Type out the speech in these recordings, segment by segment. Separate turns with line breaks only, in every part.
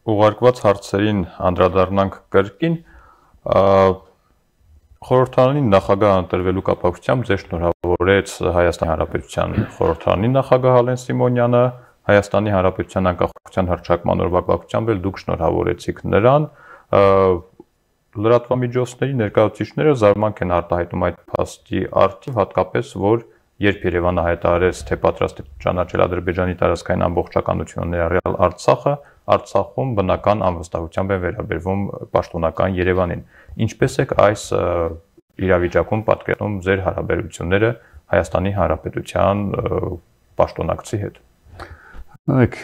Ուղարկված հարցերին անդրադառնանք կրկին, խորհրդարանի նախագահ ընտրվելու կապակցությամբ ձեզ շնորհավորեց Հայաստանի Հանրապետության խորհրդարանի նախագահ Ալեն Սիմոնյանը, Հայաստանի Հանրապետության անկախության հռչակման օրվա կապակցությամբ էլ դուք շնորհավորեցիք նրան, լրատվամիջոցների ներկայացուցիչները զարմանք են արտահայտում այդ փաստի առթիվ, հատկապես որ երբ Երևանը հայտարարեց, թե պատրաստ է ճանաչել Ադրբեջանի տարածքային ամբողջականությունը ներառյալ Արցախը, Արցախում բնական անվստահությամբ է վերաբերվում պաշտոնական Երևանին։ Ինչպես եք այս իրավիճակում պատկերում ձեր հարաբերությունները Հայաստանի Հանրապետության պաշտոնակցի հետ։
Եք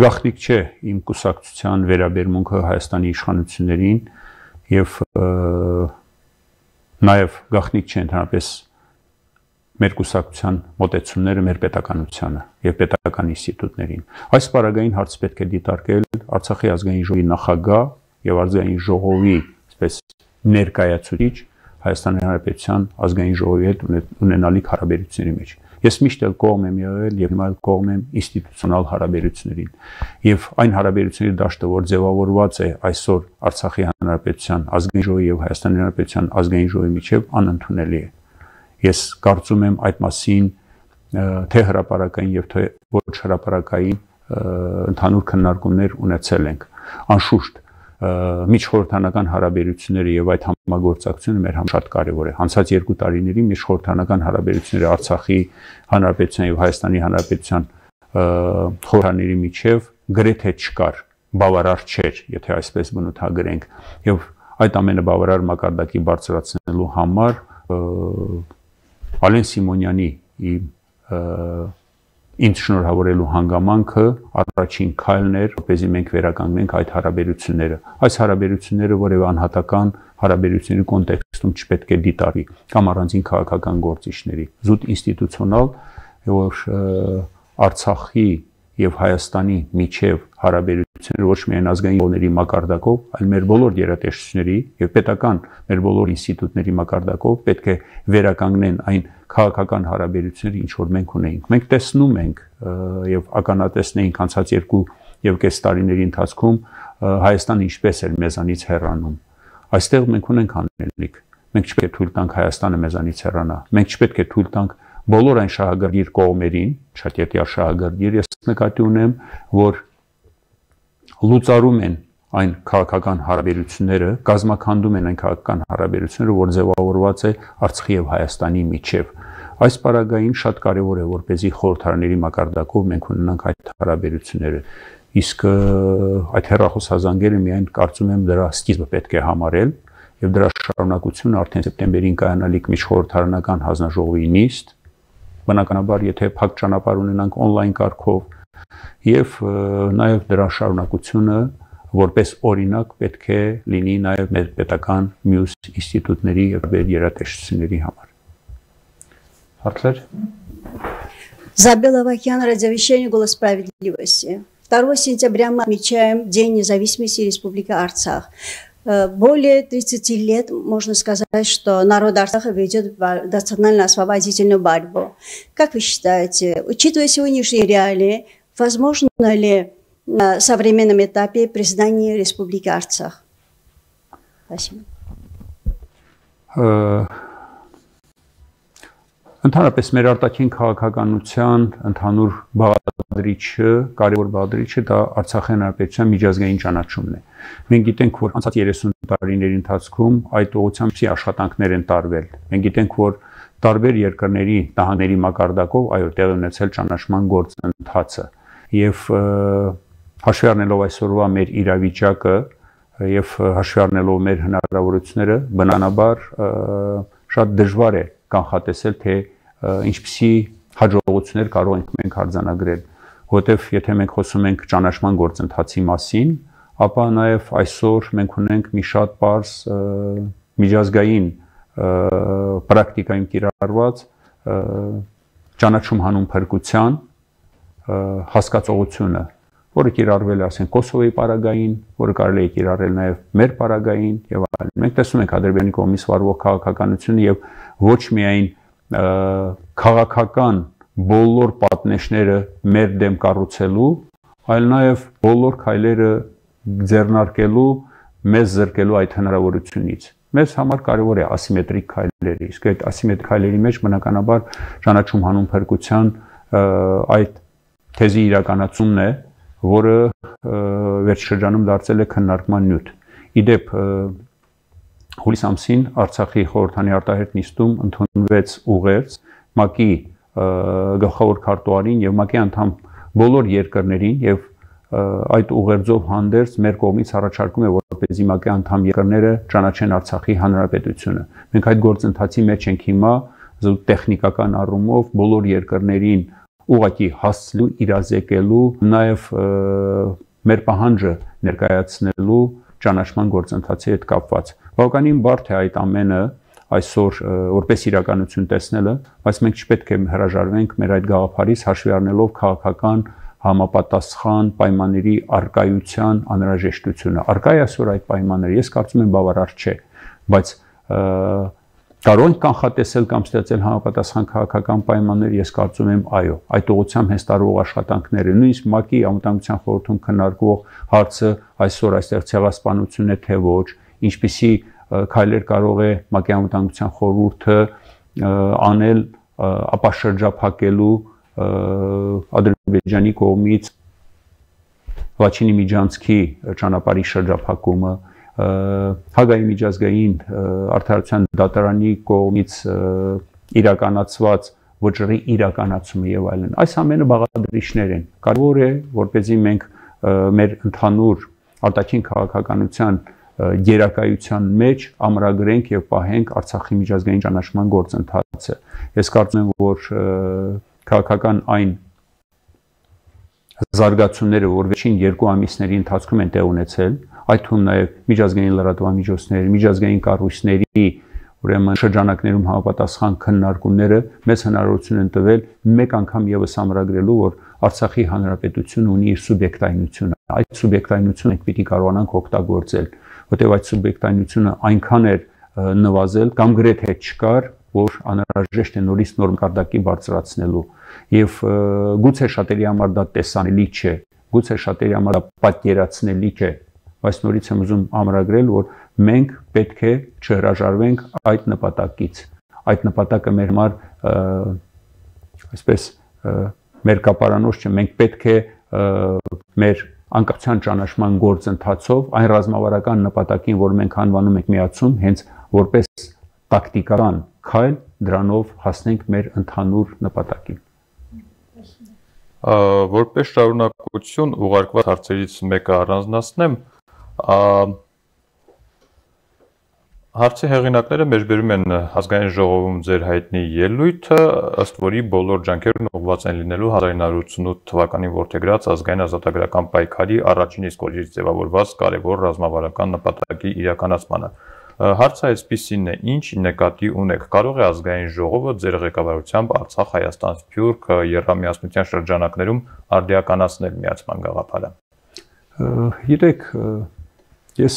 գաղտնիք չէ իմ կուսակցության վերաբերմունքը Հայաստանի իշխանություններին եւ նաեւ գաղտնիք չէ ընդհանրապես մեր կուսակցության մոտեցումները մեր պետականությանը եւ պետական ինստիտուտներին։ Այս պարագային հարց պետք է դիտարկել Արցախի ազգային ժողովի նախագահ եւ ազգային ժողովի այսպես ներկայացուցիչ Հայաստանի Հանրապետության ազգային ժողովի հետ ունենալիք հարաբերությունների մեջ։ Ես միշտ էլ կողմ եմ եղել եւ հիմա էլ կողմ եմ ինստիտուցիոնալ հարաբերություններին։ Եվ այն հարաբերությունների դաշտը, որ ձևավորված է այսօր Արցախի Հանրապետության ազգային ժողովի եւ Հայաստանի Հանրապետության ազգային ժողովի միջեւ անընդունելի է։ Ես կարծում եմ այդ մասին թե հրապարակային եւ թե ոչ հրապարակային ընդհանուր քննարկումներ ունեցել ենք։ Անշուշտ միջխորհրդանական հարաբերությունները եւ այդ համագործակցությունը մեր համար շատ կարեւոր է։ Անցած 2 տարիների միջխորհրդանական հարաբերությունները Արցախի Հանրապետության եւ Հայաստանի Հանրապետության խորհրդաների միջև գրեթե չկար, բավարար չէր, եթե այսպես բնութագրենք։ Եվ այդ ամենը բավարար մակարդակի բարձրացնելու համար Ալեն Սիմոնյանի ինձ շնորհավորելու հանգամանքը առաջին քայլն էր, որպեսզի մենք վերականգնենք այդ հարաբերությունները։ Այս հարաբերությունները որևէ անհատական հարաբերությունների կոնտեքստում չպետք է դիտարկվի կամ առանձին քաղաքական գործիչների։ Զուտ ինստիտուցիոնալ, որ Արցախի եւ Հայաստանի միջև հարաբերությունները ոչ միայն ազգային ժողովների մակարդակով, այլ մեր բոլոր գերատեսչությունների եւ պետական մեր բոլոր ինստիտուտների մակարդակով պետք է վերականգնեն այն քաղաքական հարաբերությունները, ինչ որ մենք ունեինք։ Մենք տեսնում ենք եւ ականատեսնեինք անցած 2.5 տարիների ընթացքում Հայաստանը ինչպես էր մեզանից հեռանում։ Այստեղ մենք ունենք անելիք։ Մենք չպետք է թույլ տանք Հայաստանը մեզանից հեռանա։ Մենք չպետք է թույլ տանք բոլոր այն շահագրգիռ կողմերին, շատյետյա շահագրգիռ, ես նկատի ունեմ, որ լուծարում են այն քաղաքական հարաբերությունները, կազմաքանդում են այն քաղաքական հարաբերությունները, որ ձևավորված է Արցախի եւ Հայաստանի միջև։ Այս պարագային շատ կարեւոր է, որպեսզի խորհրդարանների մակարդակով մենք ունենանք այդ հարաբերությունները։ Իսկ այդ հեռախոսազանգերը միայն կարծում եմ դրա սկիզբը պետք է համարել եւ դրա շարունակությունը արդեն սեպտեմբերին կայանալիք միջխորհրդարանական հանձնաժողովի նիստ, բնականաբար եթե փակ ճանապարհ ունենանք on-line կարգով եւ նաեւ դրա շարունակությունը որպես օրինակ պետք է լինի նաեւ մեր պետական մյուս ինստիտուտների եւ գերատեսչությունների համար։
Հարցեր։
Забела Вакян, радиовещание «Голос справедливости». 2 сентября мы отмечаем День независимости Республики Арцах. Более 30 лет можно сказать, что народ Арцаха ведет национально-освободительную борьбу. Как вы считаете, учитывая сегодняшние реалии, возможно ли на современном этапе признание Республики Арцах? Спасибо.
Ընդհանրապես մեր արտաքին քաղաքականության ընդհանուր բաղադրիչը, կարևոր բաղադրիչը դա Արցախի Հանրապետության միջազգային ճանաչումն է։ Մենք գիտենք, որ անցած 30 տարիների ընթացքում այդ ուղղությամբ աշխատանքներ են տարվել։ Մենք գիտենք, որ տարբեր երկրների նահանգների մակարդակով այո տեղ ունեցել ճանաչման գործընթացը։ Եվ հաշվի առնելով այսօրվա մեր իրավիճակը եւ հաշվի առնելով մեր հնարավորությունները, բնականաբար շատ դժվար է կանխատեսել, թե ինչպիսի հաջողություններ կարող ենք մենք արձանագրել, որովհետև եթե մենք խոսում ենք ճանաչման գործընթացի մասին, ապա նաև այսօր մենք ունենք մի շատ պարզ միջազգային պրակտիկայում կիրառված ճանաչում հանուն փրկության հասկացողությունը, որը կիրառվել է ասենք Կոսովոյի պարագային, որը կարելի է կիրառել նաև մեր պարագային եւ այլն։ Մենք տեսնում ենք Ադրբեջանի կողմից վարվող քաղաքականությունը եւ ոչ միայն քաղաքական բոլոր պատնեշները մեր դեմ կառուցելու, այլ նաև բոլոր քայլերը ձեռնարկելու, մեզ զրկելու այդ հնարավորությունից։ Մեզ համար կարևոր է ասիմետրիկ քայլերը, իսկ այդ ասիմետրիկ քայլերի մեջ բնականաբար ճանաչում հանուն փրկության այդ թեզի իրականացումն է, որը վերջշրջանում դարձել է քննարկման նյութ։ Իդեպ հուլիս ամսին Արցախի խորհրդանի արտահերթ նիստում ընդունվեց ուղերձ ՄԱԿ-ի գլխավոր քարտուղարին եւ ՄԱԿ-ի անդամ բոլոր երկրներին եւ այդ ուղերձով հանդերձ մեր կողմից առաջարկում է, որպեսզի ՄԱԿ-ի անդամ երկրները ճանաչեն Արցախի հանրապետությունը։ Մենք այդ գործընթացի մեջ ենք հիմա, զուտ տեխնիկական առումով բոլոր երկրներին ուղղակի հասցնելու, իրազեկելու, նաև մեր պահանջը ներկայացնելու ճանաչման գործընթացի հետ կապված։ Բավականին բարդ է այդ ամենը այսօր որպես իրականություն տեսնելը, բայց մենք չպետք է հրաժարվենք մեր այդ գաղափարից, հաշվի առնելով քաղաքական համապատասխան պայմանների առկայության անհրաժեշտությունը։ Առկա է այսօր այդ պայմանները, ես կարծում եմ բավարար չէ, բայց կարող ենք կանխատեսել կամ ստեղծել համապատասխան քաղաքական պայմաններ, ես կարծում եմ այո, այդ ուղղությամբ հենց տարվող աշխատանքները, նույնիսկ ՄԱԿ-ի անվտանգության խորհրդում քննարկվող հարցը այսօր այստեղ ցեղասպանություն է թե ոչ, ինչպիսի քայլեր կարող է ՄԱԿ-ի անվտանգության խորհուրդը անել ապաշրջափակելու Ադրբեջանի կողմից Լաչինի միջանցքի ճանապարհի շրջափակումը, Հագայի միջազգային արդարության դատարանի կողմից իրականացված վճռի իրականացումը եւ այլն։ Այս ամենը բաղադրիչներ են։ Կարևոր է, որպեսզի մենք մեր ընդհանուր արտաքին քաղաքականության գերակայության մեջ ամրագրենք եւ պահենք Արցախի միջազգային ճանաչման գործընթացը։ Ես կարծում եմ, որ քաղաքական այն զարգացումները, որ վերջին 2 ամիսների ընթացքում են տեղ ունեցել, այդ թվում նաև միջազգային լրատվամիջոցների, միջազգային կառույցների, ուրեմն շրջանակներում համապատասխան քննարկումները մեզ հնարավորություն են տվել մեկ անգամ եւս ամրագրելու, որ Արցախի հանրապետությունը ունի իր սուբյեկտայնությունը։ Այդ սուբյեկտայնությունը մենք պիտի կարողանանք օգտագործել, որտեղ այդ սուբյեկտայնությունը այնքան է նվազել կամ գրեթե չկար, որ անհրաժեշտ է նորից նորմ կարգի բարձրացնելու եւ գուցե շատերի համար դա տեսանելի չէ, գուցե շատերի համար դա պատկերացնելի չէ, բայց նորից եմ ուզում ամրագրել, որ մենք պետք է չհրաժարվենք այդ նպատակից։ Այդ նպատակը մեր համար այսպես մեր կապարանոց չէ, մենք պետք է մեր անկախության ճանաչման գործընթացով այն ռազմավարական նպատակին, որ մենք անվանում ենք միացում, հենց որպես տակտիկական քայլ դրանով հասնենք մեր ընդհանուր նպատակին։
Որպես շարունակություն ուղարկված հարցերից մեկը առանձնացնեմ, հարցի հեղինակները մեջբերում են ազգային ժողովում ձեր հայտնի ելույթը, ըստ որի բոլոր ջանքերն ուղղված են լինելու 1988 թվականին որդեգրած ազգային ազատագրական պայքարի առաջին իսկ օրերից ձևավորված կարևոր ռազմավարական նպատակի իրականացմանը։ Հարցը այսպիսին է, ինչ նկատի ունեք, կարող է ազգային ժողովը ձեր ղեկավարությամբ Արցախ, Հայաստան, Սփյուռք եռամիասնության շրջանակներում արդիականացնել միացման գաղափարը։
Գիտեք, ես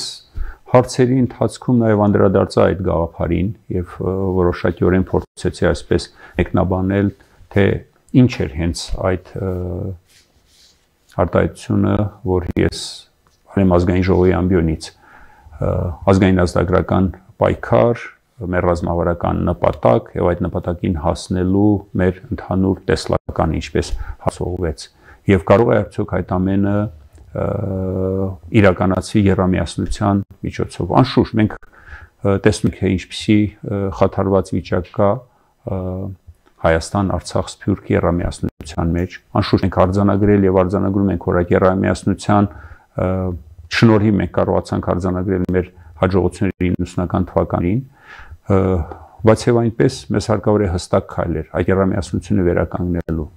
հարցերի ընթացքում նաև անդրադարձա այդ գաղափարին եւ որոշակիորեն փորձեցի այսպես մեկնաբանել, թե ինչ էր հենց այդ արտահայտությունը, որ ես արեմ ազգային ժողովի ամբիոնից ազգային ազատագրական պայքար, մեր ռազմավարական նպատակ եւ այդ նպատակին հասնելու մեր ընդհանուր տեսլական ինչպես հասողվեց եւ կարող է արդյոք այդ ամենը իրականացվի եռամիասնության միջոցով։ Անշուշտ մենք տեսնում ենք ինչպիսի խաթարված վիճակ կա Հայաստան, Արցախ, Սփյուռք եռամիասնության մեջ։ Անշուշտ մենք արձանագրել եւ արձանագրում ենք, որ այդ եռամիասնության շնորհիվ մենք կարողացանք արձանագրել մեր հաջողությունները 90-ական թվականին, բայց եւ այնպես մեզ հարկավոր է հստակ քայլեր այդ եռամիասնությունը վերականգնելու։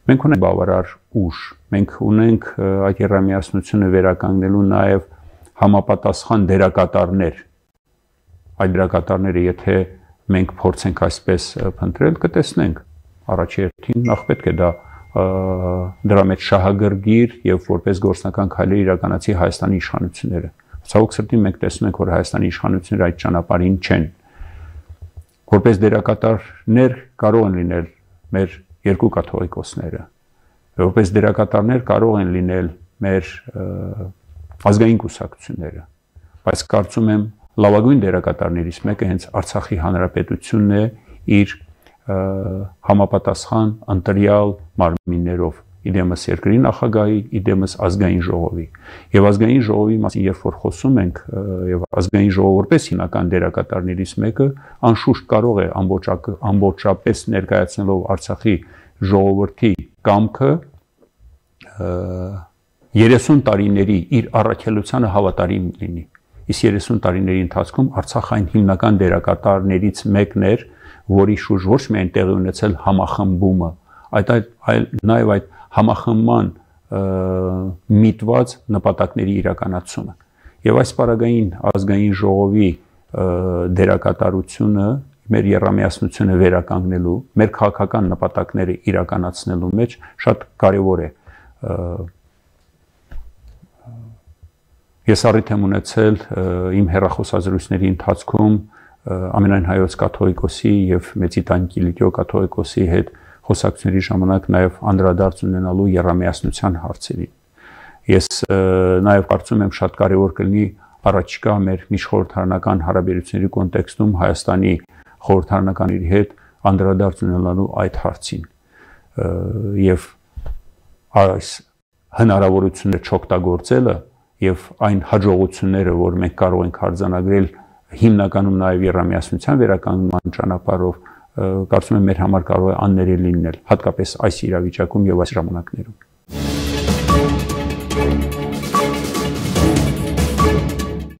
Մենք ունենք բավարար ուժ, մենք ունենք այդ եռամիասնությունը վերականգնելու նաեւ համապատասխան դերակատարներ։ Այդ դերակատարները, եթե մենք փորձենք այսպես փնտրել, կտեսնենք առաջի հերթին նախ պետք է դա դրա մեջ շահագրգիռ եւ որպես գործնական քայլեր իրականացի Հայաստանի իշխանությունները։ Ցավոք սրտի մենք տեսնում ենք, որ Հայաստանի իշխանությունները այդ ճանապարհին չեն։ Որպես դերակատարներ կարող են լինել մեր երկու կաթողիկոսները, որպես դերակատարներ կարող են լինել մեր ազգային կուսակցությունները, բայց կարծում եմ լավագույն դերակատարներից մեկը հենց Արցախի հանրապետությունն է իր համապատասխան ընտրյալ մարմիններով, իդեմս երկրի նախագահի, իդեմս ազգային ժողովի։ Եվ ազգային ժողովի մասին երբ որ խոսում ենք, եւ ազգային ժողովը որպես հիմնական դերակատարներից մեկը անշուշտ կարող է ամբողջապես ներկայացնելով Արցախի ժողովրդի կամքը 30 տարիների իր առաքելությանը հավատարիմ լինի։ Իսկ 30 տարիների ընթացքում Արցախը այն հիմնական դերակատարներից մեկն էր, որի շուրջ ոչ միայն տեղի ունեցել համախմբումը, այլ նաև այդ համախմբման միտված նպատակների իրականացումը։ Եվ այս պարագային ազգային ժողովի դերակատարությունը մեր եռամիասնությունը վերականգնելու, մեր քաղաքական նպատակները իրականացնելու մեջ շատ կարևոր է։ Ես առիթ եմ ունեցել իմ հեռախոսազրույցների ընթացքում ամենայն հայոց կաթողիկոսի եւ Մեծիտան Կիլիկիո կաթողիկոսի հետ խոսակցությունների ժամանակ նաև անդրադարձ ունենալու եռամիասնության հարցերին։ Ես նաև կարծում եմ շատ կարևոր կլինի առաջիկա մեր միջխորհրդարանական հարաբերությունների կոնտեքստում Հայաստանի խորհրդարանականների հետ անդրադարձ ունենալու այդ հարցին եւ այս հնարավորությունները չօգտագործելը եւ այն հաջողությունները, որ մենք կարող ենք արձանագրել հիմնականում նաև եռամիասնության վերականգնման ճանապարհով, կարծում եմ մեր համար կարող է աններելի լինել, հատկապես այս իրավիճակում եւ այս ժամանակներում։